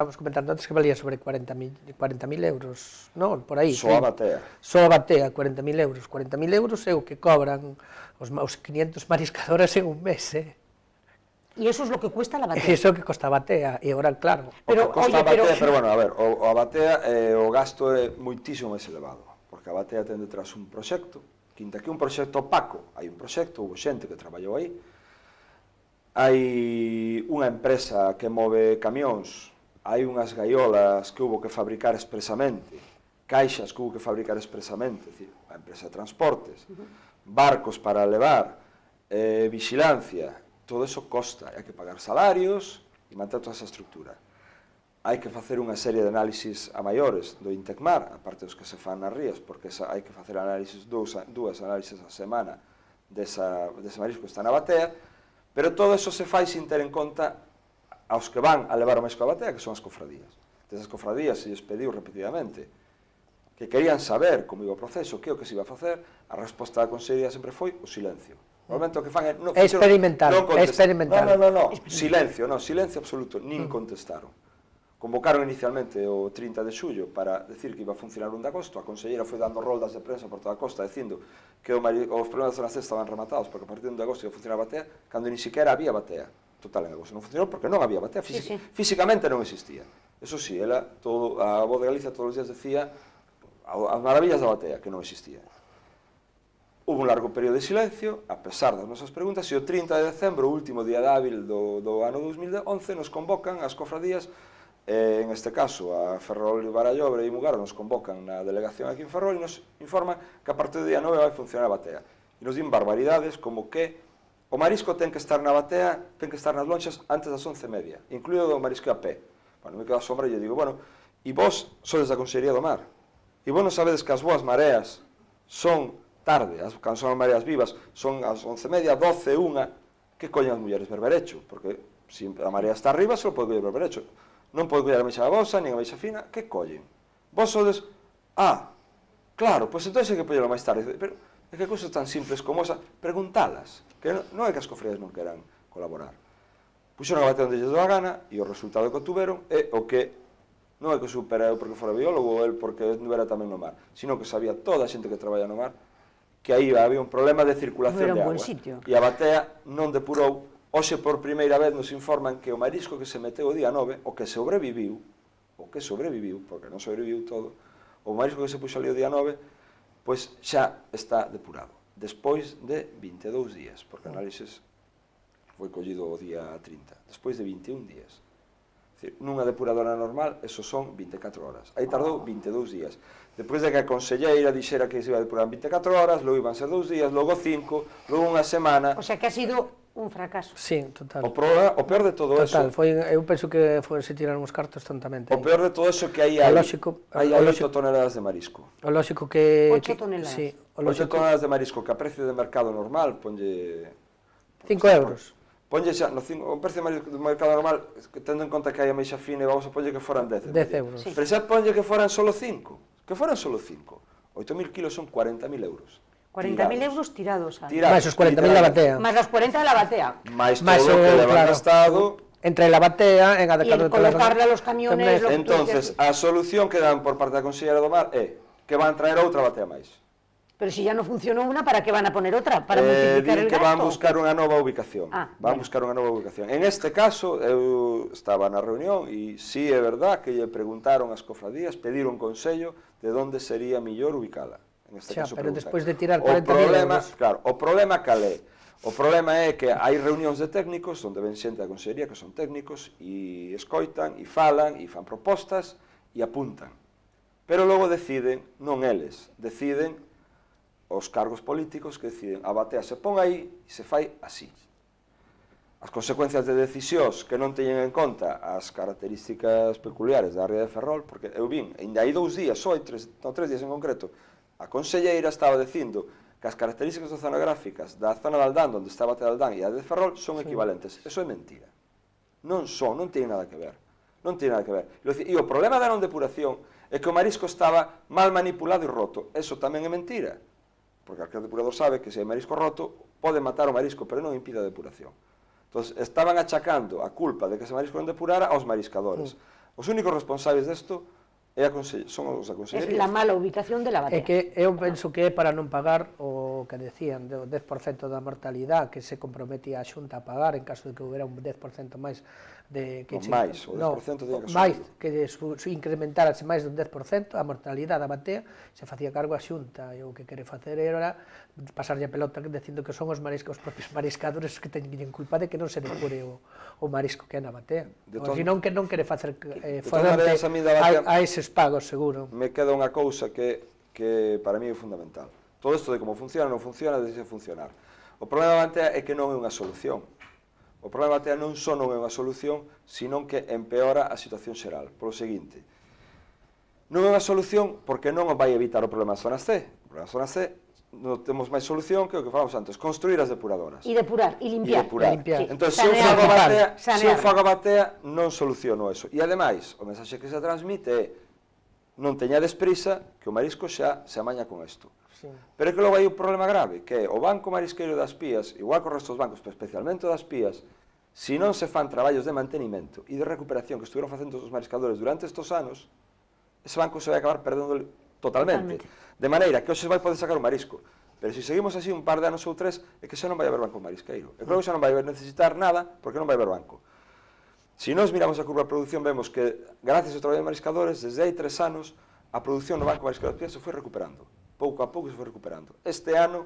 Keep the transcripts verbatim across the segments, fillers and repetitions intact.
Estamos comentando antes que valía sobre cuarenta mil euros, non? Por aí. Só a batea. Só a batea, cuarenta mil euros. cuarenta mil euros é o que cobran os quinientos mariscadoras en un mes, eh? E iso é o que cuesta a batea. Iso é o que costa a batea, e agora, claro. O que costa a batea, pero bueno, a ver, a batea, o gasto é moitísimo máis elevado, porque a batea ten detrás un proxecto, quinta que un proxecto opaco, hai un proxecto, houve xente que traballou aí, hai unha empresa que move camións, hai unhas gaiolas que houve que fabricar expresamente, caixas que houve que fabricar expresamente, é dicir, a empresa de transportes, barcos para levar, eh, vigilancia, todo eso costa, hai que pagar salarios e manter toda esa estructura. Hai que facer unha serie de análisis a maiores do Intecmar, aparte dos que se fan nas rías, porque hai que facer análisis, dúas, dúas análisis a semana desa, dese marisco que está na batea, pero todo eso se fai sin ter en conta aos que van a levar o marisco a batea, que son as cofradías. Desas cofradías se lles pediu repetidamente que querían saber como iba o proceso, que o que se iba a facer, a resposta da Consellería sempre foi o silencio. Normalmente o que fan é... É experimental, é experimental. Non, non, non, silencio, non, silencio absoluto, nin contestaron. Convocaron inicialmente o trinta de xullo para decir que iba a funcionar un de agosto, a Conselleira foi dando roldas de prensa por toda a costa dicindo que os problemas da zona C estaban rematados porque a partir de un de agosto ia funcionar a batea, cando ni siquiera había batea. Total, en agosto non funcionou porque non había batea, físicamente non existía. Eso sí, ela, a Voz de Galicia todos os días decía as maravillas da batea, que non existía. Hubo un largo período de silencio, a pesar das nosas preguntas, e o trinta de decembro, o último día hábil do, do ano dous mil once, nos convocan as cofradías, eh, en este caso a Ferrol, Barallobre e Mugaro nos convocan na delegación aquí en Ferrol e nos informan que a partir do día nove vai funcionar a batea. E nos din barbaridades como que o marisco ten que estar na batea, ten que estar nas lonxas antes das once e media, incluído o marisco a pé. Bueno, me quedo a sombra e eu digo, bueno, e vos sodes da Consellería do Mar, e vos non sabedes que as boas mareas son tarde, as, cando son as mareas vivas, son as once e media, doce, unha, que collen as mulleres berberecho, porque se a marea está arriba, só pode coller berberecho. Non pode coller a meixa bosa, nin a meixa fina, que collen? Vos sodes, ah, claro, pois entón é que poñelo máis tarde, pero é que cousas tan simples como esa, preguntalas, que non é que as cofradías non queran colaborar. Puxeron a batea onde lles dou a gana, e o resultado que obtuveron é o que non é que supera eu porque fora biólogo ou el porque era tamén no mar, sino que sabía toda a xente que traballa no mar que aí había un problema de circulación de agua. E a batea non depurou. Hoxe, por primeira vez, nos informan que o marisco que se meteu o día nove, o que sobreviviu, o que sobreviviu, porque non sobreviviu todo, o marisco que se puxo ali o día nove, pois xa está depurado, despois de vinte e dous días, porque a análisis foi collido o día trinta, despois de vinte e un días. Nunha depuradora normal, eso son vinte e catro horas. Aí tardou vinte e dous días. Despois de que a conselleira dixera que se iba a depurar en vinte e catro horas, logo iban ser dous días, logo cinco, logo unha semana... O sea que ha sido un fracaso. Sí, total. O, problema, o peor de todo total, eso... Total, foi, eu penso que foi, se tiraron os cartos tontamente. O peor de todo eso que aí hai, hai oito toneladas de marisco. O lógico que... oito toneladas. Sí, oito toneladas de marisco que a precio de mercado normal ponlle... cinco euros. Ponlle xa, no o precio do mercado normal, tendo en conta que hai a meixa fina, vamos a ponlle que foran dez. dez euros. Sí. Pero xa ponlle que foran solo cinco. Que foran solo cinco. oito mil kilos son cuarenta mil euros. cuarenta mil euros tirados. tirados más os cuarenta mil da batea. Más los cuarenta de la batea. Más todo lo que le han gastado. Entre la batea, en y el colocarle a los camiones... Entonces, a solución que dan por parte da Conselleira do Mar é que van traer outra batea máis. Pero si ya no funcionó una, ¿para qué van a poner otra? ¿Para eh, multiplicar el gasto? gasto? Van a buscar unha nova ubicación. Ah, van a bueno. buscar unha nova ubicación. En este caso, eu estaba na reunión e sí é verdad que lle preguntaron as cofradías, pediron consello de onde sería mellor ubicala. En este xa, caso, pero preguntar. despois de tirar cuarenta mil euros... Claro, o problema calé. O problema é que hai reunións de técnicos onde ven xente da Consellería que son técnicos e escoitan, e falan, e fan propostas, e apuntan. Pero logo deciden, non eles, deciden os cargos políticos que deciden a batea se pon aí e se fai así. As consecuencias de decisións que non teñen en conta as características peculiares da ría de Ferrol, porque eu vin, ainda hai dous días, só hai tres, non, tres días en concreto, a conselleira estaba dicindo que as características oceanográficas da zona de Aldán, onde está a batea de Aldán e a de Ferrol, son equivalentes. Eso é mentira. Non son, non ten nada que ver. Non ten nada que ver. E o problema da non depuración é que o marisco estaba mal manipulado e roto. Eso tamén é mentira. Porque aquel depurador sabe que se hai marisco roto pode matar o marisco, pero non impide a depuración. Entón, estaban achacando a culpa de que ese marisco non depurara aos mariscadores. Os únicos responsables desto é a conse- son os da Es Consellería. la mala ubicación de la É batea. que eu penso que é para non pagar o que decían do dez por cento da mortalidade que se comprometía a Xunta a pagar en caso de que houbera un dez por cento máis de que Non, máis, o dez por cento no, tiña que máis subir. que su, su incrementárase máis dun dez por cento a mortalidade da batea se facía cargo a Xunta e o que quere facer era pasarlle a pelota dicindo que son os mariscos, os propios mariscadores que teñen culpa de que non se depure o, o marisco que é na batea. De O to- senón que non quere facer eh, de todas fronte maneiras, a mí da batea- a, a eses pagos, seguro. Me queda unha cousa que, que para mí é fundamental. Todo isto de como funciona, non funciona, deixe funcionar. O problema da batea é que non é unha solución. O problema da batea non só non é unha solución, sino que empeora a situación xeral. Polo seguinte, non é unha solución porque non vai evitar o problema das zonas C. O problema das zonas C non temos máis solución que o que falamos antes, construir as depuradoras. Y depurar, y E limpiar. depurar. limpiar. Sí. Entón, se eu Sanear. fago a batea, se eu Sanear. fago a batea, non soluciono eso. E ademais, o mensaxe que se transmite é non teñades prisa, que o marisco xa se amaña con isto. Sí. Pero é que logo hai un problema grave, que é o Banco Marisqueiro das Pías, igual que os restos dos bancos, pero especialmente o das Pías, se non se fan traballos de mantenimento e de recuperación que estuveron facendo os mariscadores durante estes anos, ese banco se vai acabar perdendo totalmente. Totalmente. De maneira que hoxe vai poder sacar o marisco. Pero se seguimos así un par de anos ou tres, é que xa non vai haber banco marisqueiro. E creo que xa non vai necesitar nada, porque non vai haber banco. Se nós miramos a curva de produción, vemos que, gracias ao traballo de mariscadores, desde hai tres anos, a produción no Banco Marisqueiro das Pías se foi recuperando. Pouco a pouco se foi recuperando. Este ano,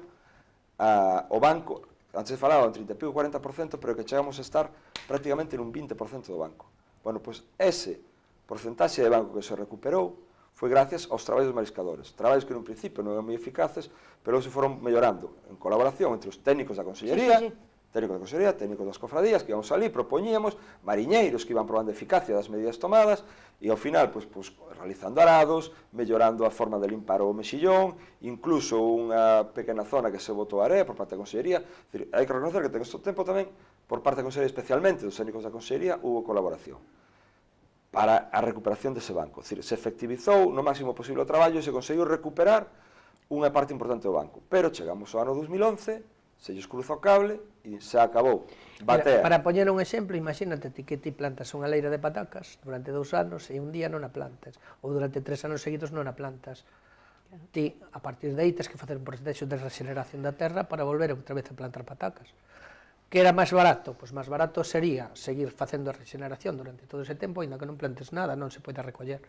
a, o banco, antes se falaba un trinta e pico, cuarenta por cento, pero que chegamos a estar prácticamente nun vinte por cento do banco. Bueno, pois ese porcentaxe de banco que se recuperou foi gracias aos traballos dos mariscadores. Traballos que nun principio non eran moi eficaces, pero se foron mellorando en colaboración entre os técnicos da Consellería, Sí, sí, sí. técnicos da Consellería, técnicos das cofradías, que íbamos ali, propoñíamos, mariñeiros que iban probando a eficacia das medidas tomadas, e ao final, pois, pois, realizando arados, mellorando a forma de limpar o mexillón, incluso unha pequena zona que se botou area por parte da Consellería. Decir, hai que reconocer que en este tempo tamén, por parte da Consellería, especialmente dos técnicos da Consellería, hubo colaboración para a recuperación dese banco. Decir, se efectivizou no máximo posible o traballo e se conseguiu recuperar unha parte importante do banco. Pero chegamos ao ano dos mil once, se lles cruza o cable e se acabou. Batea. Mira, para poñer un exemplo, imagínate ti que ti plantas unha leira de patacas durante dous anos e un día non a plantas, ou durante tres anos seguidos non a plantas. Ti, a partir de aí, tens que facer un proceso de regeneración da terra para volver outra vez a plantar patacas. Que era máis barato? Pois máis barato sería seguir facendo a regeneración durante todo ese tempo, ainda que non plantes nada, non se pode recoller.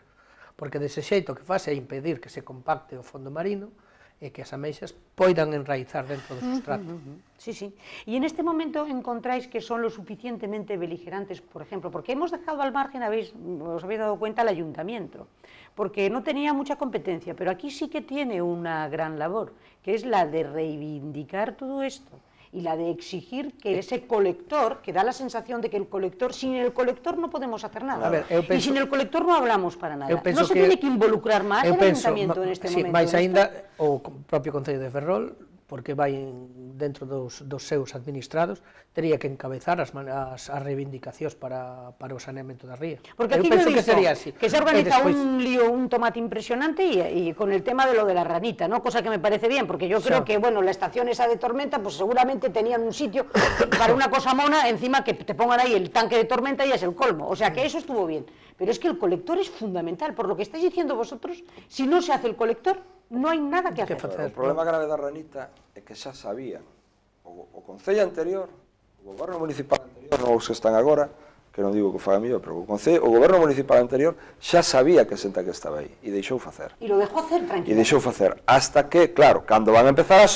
Porque dese xeito que faz é impedir que se compacte o fondo marino e que as ameixas poidan enraizar dentro do sustrato. Sí, sí. Y en este momento encontráis que son lo suficientemente beligerantes, por ejemplo, porque hemos dejado al margen, habéis, os habéis dado cuenta, al ayuntamiento, porque no tenía mucha competencia, pero aquí sí que tiene una gran labor, que es la de reivindicar todo esto y la de exigir que ese colector, que da la sensación de que el colector, sin el colector no podemos hacer nada. A ver, eu y penso- sin el colector no hablamos para nada. Eu penso No se que- tiene que involucrar más Eu el penso, ayuntamiento ma- en este sí, momento. máis en aínda esto. o propio Concello de Ferrol, porque vai en- dentro dos, dos seus administrados, tería que encabezar as, man- as, as reivindicacións para, para o saneamento da ría. Porque Eu aquí penso yo he que visto sería así. que se E organiza despois- un lío, un tomate impresionante y, y con el tema de lo de la ranita, ¿no? Cosa que me parece bien, porque yo creo Sí. que, bueno, la estación esa de Tormenta, pues seguramente tenían un sitio para una cosa mona, encima que te pongan ahí el tanque de Tormenta y es el colmo. O sea que eso estuvo bien. Pero es que el colector es fundamental. Por lo que estáis diciendo vosotros, si no se hace el colector, no hay nada que Que hacer. facer. O problema grave da ranita é que xa sabían o, o Concello anterior, o goberno municipal anterior, non os que están agora, que non digo que o faga mellor, pero o, Concello, o goberno municipal anterior xa sabía que senta que estaba aí e deixou facer. Y lo dejó hacer E tranquilo. deixou facer hasta que, claro, cando van a empezar a